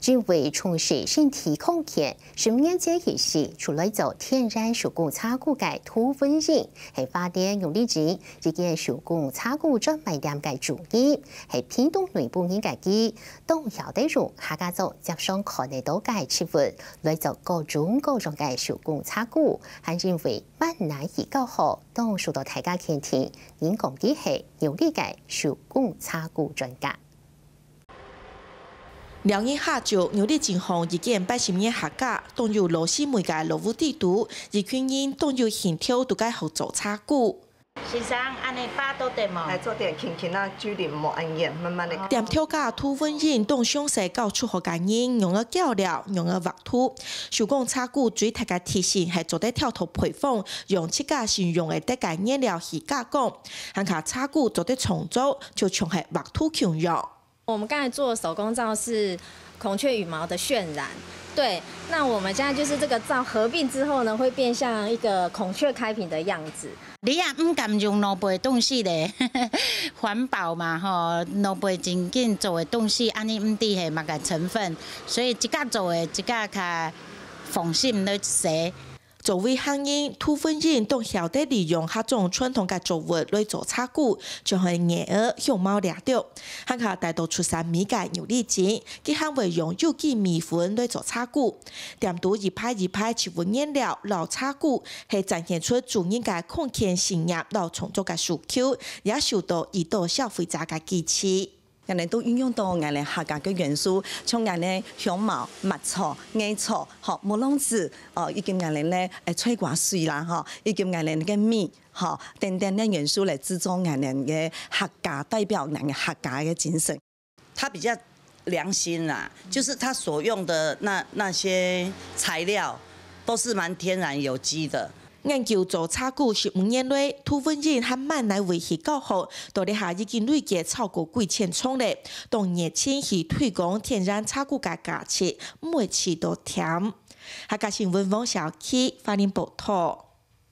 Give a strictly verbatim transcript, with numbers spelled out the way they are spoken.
因為重視身體康健，十五年前起，就來做天然手工茶具个涂文英，係花蓮玉里鎮一間手工茶具專賣店个主人，係屏東內埔人个佢，當曉得用客家庄輒常看得到个植物，來做各種各樣个手工茶具，還因為滿哪去教學，當受到大家肯定，人講佢係玉里个手工茶具專家。 尞日下晝，玉里鎮項一間八十年客家，當有老師妹个老屋底肚，一群人當有興頭，都該學做茶具。先生，恁呢花多點無？來做點輕輕啊，距離無恁遠，慢慢的。店頭家涂文英當詳細教初學个人仰仔攪料，仰仔畫圖。手工茶具最大个特性係做得跳脫配方，用自家先用會得个原料去加工，還較茶具做得創作，就像係畫圖共樣。 我們剛才做的手工皂是孔雀羽毛的渲染，對。那我們現在就是這個皂合併之後呢，會變像一個孔雀開屏的樣子。你也毋敢用老輩東西咧，環保嘛吼，老輩真緊做个東西，恁呢毋知係麼个成分，所以自家做个，自家較放心來洗。 作為客人，涂文英當曉得利用客庄傳統个作物來做茶具，就係艾仔、香茅這兜。還較帶到出產米个玉里鎮，佢還會用有機米粉來做茶具。店肚一排一排植物原料摎茶具，係展現出主人个康健信念摎創作个需求，也受到已多消費者个支持。 𠊎等都運用到𠊎等客家个元素，像𠊎等香茅、麥草、艾草，吼，木榔子，哦，以及𠊎等咧，誒，菜瓜水啦，吼，以及𠊎等个米，吼，等等个元素來製作𠊎等个客家，代表𠊎等客家个精神。他比較良心啦，就是他所用的那，那些材料都是蠻天然有機的。 研究做茶具十五年來，涂文英還滿哪位去教學，到這下已經累計超過幾千場咧，當熱情去推廣天然茶具个價值，毋會試著悿。客家新聞黃小琪，花蓮報導。